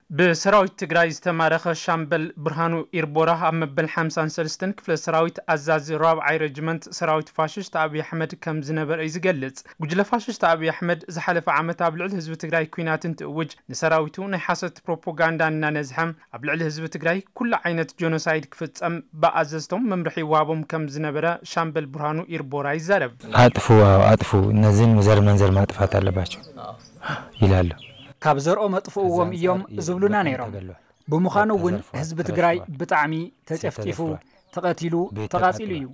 ብሰራዊት ትግራይ ዝተማረኸ ሻምበል ብርሃኑ ኢርቦራ ኣብ መበል ሓምሳን ሰለስተን ክፍለ ሰራዊት ኣዛዚ ራብዓይ ረጅመንት ሰራዊት ፋሽስት ኣብይ ኣሕመድ ከም ዝነበረ እዩ ዝገልጽ። ጉጅለ ፋሽስት ኣብይ ኣሕመድ ዝሓለፈ ዓመት ኣብ ልዕሊ ህዝቢ ትግራይ ኲናት እንትእውጅ፣ ንሰራዊቱ ናይ ሓሰት ፕሮፓጋንዳ እናነዝሐ ኣብ ልዕሊ ህዝቢ ትግራይ ኩሉ ዓይነት ጆኖሳይድ ክፍጸም ብኣዘዝቶም መምርሒ ይወሃቦም ከም ዝነበረ ሻምበል ብርሃኑ ኢርቦራ ይዛረብ። አጥፉ፣ አዎ፣ አጥፉ፣ እነዚህን ዘር መንዘር ማጥፋት አለባቸው ይላሉ። ካብ ዘርኦም ኣጥፍእዎም እዮም ዝብሉና ነይሮም። ብምዃኑ እውን ህዝቢ ትግራይ ብጣዕሚ ተጨፍጢፉ፣ ተቐቲሉ፣ ተቓጺሉ እዩ።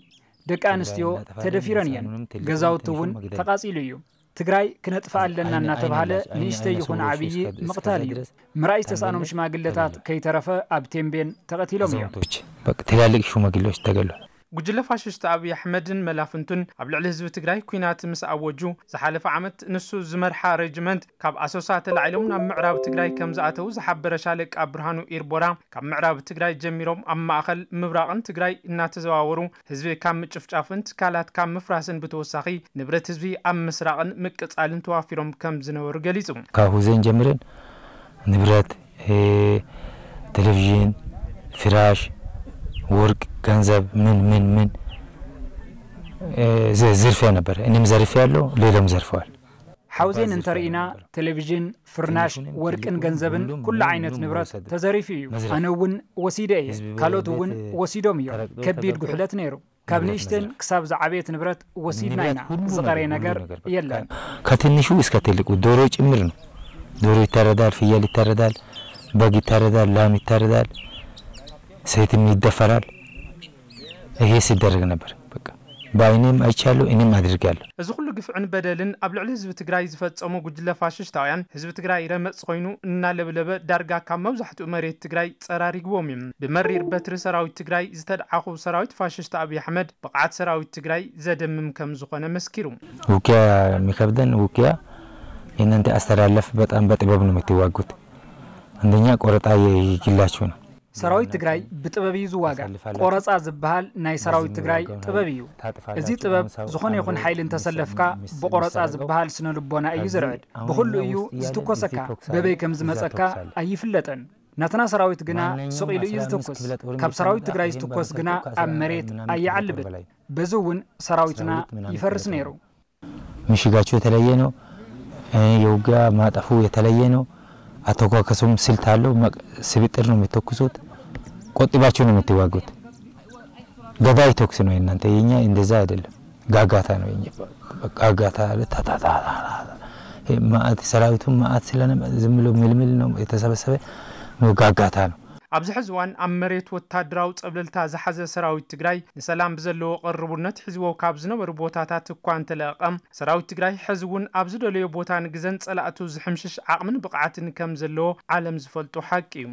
ደቂ ኣንስትዮ ተደፊረን እየን። ገዛውቲ እውን ተቓጺሉ እዩ። ትግራይ ክነጥፍኣ ኣለና እናተባሃለ ንእሽተይ ይኹን ዓብዪ ምቕታል እዩ። ምርኣይ ዝተሳእኖም ሽማግለታት ከይተረፈ ኣብ ቴምቤን ተቐቲሎም እዮም። ትላልቅ ሽማግሌዎች ተገሏል። ጉጅለ ፋሽስት ኣብይ ኣሕመድን መላፍንቱን ኣብ ልዕሊ ህዝቢ ትግራይ ኲናት ምስ ኣወጁ፣ ዝሓለፈ ዓመት ንሱ ዝመርሓ ሬጅመንት ካብ ኣሶሳ ተላዒሎም ናብ ምዕራብ ትግራይ ከም ዝኣተዉ ዝሓበረ ሻለቃ ብርሃኑ ኢርቦራ፣ ካብ ምዕራብ ትግራይ ጀሚሮም ኣብ ማእኸል ምብራቕን ትግራይ እናተዘዋወሩ ህዝቢ ካብ ምጭፍጫፍን ትካላት ካብ ምፍራስን ብተወሳኺ ንብረት ህዝቢ ኣብ ምስራቕን ምቅጻልን ተዋፊሮም ከም ዝነበሩ ገሊጹ። ካብ ሁዜን ጀምረን ንብረት፣ ቴሌቪዥን፣ ፍራሽ፣ ወርቅ፣ ገንዘብ፣ ምን ምን ምን ዝርፊያ ነበር። እኔም ዘርፌ ያለው፣ ሌላውም ዘርፈዋል። ሓውዜን እንተርኢና ቴሌቪዥን፣ ፍርናሽ፣ ወርቅን ገንዘብን ኩሉ ዓይነት ንብረት ተዘሪፉ እዩ። ኣነ እውን ወሲደ እየ፣ ካልኦት እውን ወሲዶም እዮም። ከቢድ ጉሕለት ነይሩ። ካብ ንእሽተን ክሳብ ዝዓበየት ንብረት ወሲድና ኢና። ዝቐረየ ነገር የለን። ከትንሹ እስከ ትልቁ ዶሮ ጭምር ነው። ዶሮ ይታረዳል፣ ፍየል ይታረዳል፣ በግ ይታረዳል፣ ላም ይታረዳል፣ ሴትም ይደፈራል። ይሄ ሲደረግ ነበር። በቃ በአይኔም አይቻለሁ፣ እኔም አድርጌያለሁ። እዚ ኩሉ ግፍዕን በደልን ኣብ ልዕሊ ህዝቢ ትግራይ ዝፈጸሙ ጉጅለ ፋሽስታውያን፣ ህዝቢ ትግራይ ረመጽ ኮይኑ እናለብለበ ዳርጋ ካብ መብዛሕትኡ መሬት ትግራይ ጸራሪግዎም እዩ። ብመሪር በትሪ ሰራዊት ትግራይ ዝተድዓኹ ሰራዊት ፋሽስት ኣብይ ኣሕመድ ብቕዓት ሰራዊት ትግራይ ዘደምም ከም ዝኾነ መስኪሩ። ውጊያ የሚከብደን ውጊያ የእናንተ አስተላለፍ በጣም በጥበብ ነው የምትዋጉት። አንደኛ ቆረጣ የግላችሁ ነው። ሰራዊት ትግራይ ብጥበብ እዩ ዝዋጋእ። ቆረፃ ዝበሃል ናይ ሰራዊት ትግራይ ጥበብ እዩ። እዚ ጥበብ ዝኾነ ይኹን ሓይሊ እንተሰለፍካ ብቆረፃ ዝበሃል ስነ ልቦና እዩ ዝርዕድ። ብኹሉ እዩ ዝትኮሰካ። በበይ ከም ዝመፀካ ኣይፍለጠን። ናትና ሰራዊት ግና ስቕ ኢሉ እዩ ዝትኩስ። ካብ ሰራዊት ትግራይ ዝትኮስ ግና ኣብ መሬት ኣይዓልብን። በዚ እውን ሰራዊትና ይፈርስ ነይሩ። ምሽጋቸው የተለየ ነው። የውጊያ ማጠፉ የተለየ ነው። አተኳከሱም ስልት አለው። ስብጥር ነው የሚተኩሱት። ቆጥባቸው ነው የምትዋጉት። ገዳይ ተኩስ ነው የእናንተ። የኛ እንደዛ አይደለም። ጋጋታ ነው የኛ። ጋጋታ አለ። ታታታ። ማአት ሰራዊቱ ማአት ስለነ ዝም ብሎ ምልምል ነው የተሰበሰበ። ጋጋታ ነው። ኣብዚ ሕዚ እዋን ኣብ መሬት ወታደራዊ ጸብለልታ ዝሓዘ ሰራዊት ትግራይ ንሰላም ብዘለዎ ቅርቡነት ሒዝዎ ካብ ዝነበሩ ቦታታት እኳ እንተለቐቐ፣ ሰራዊት ትግራይ ሕዚ እውን ኣብ ዝደለዮ ቦታን ግዘን ጸላእቱ ዝሕምሽሽ ዓቕምን ብቕዓትን ከም ዘለዎ ዓለም ዝፈልጦ ሓቂ እዩ።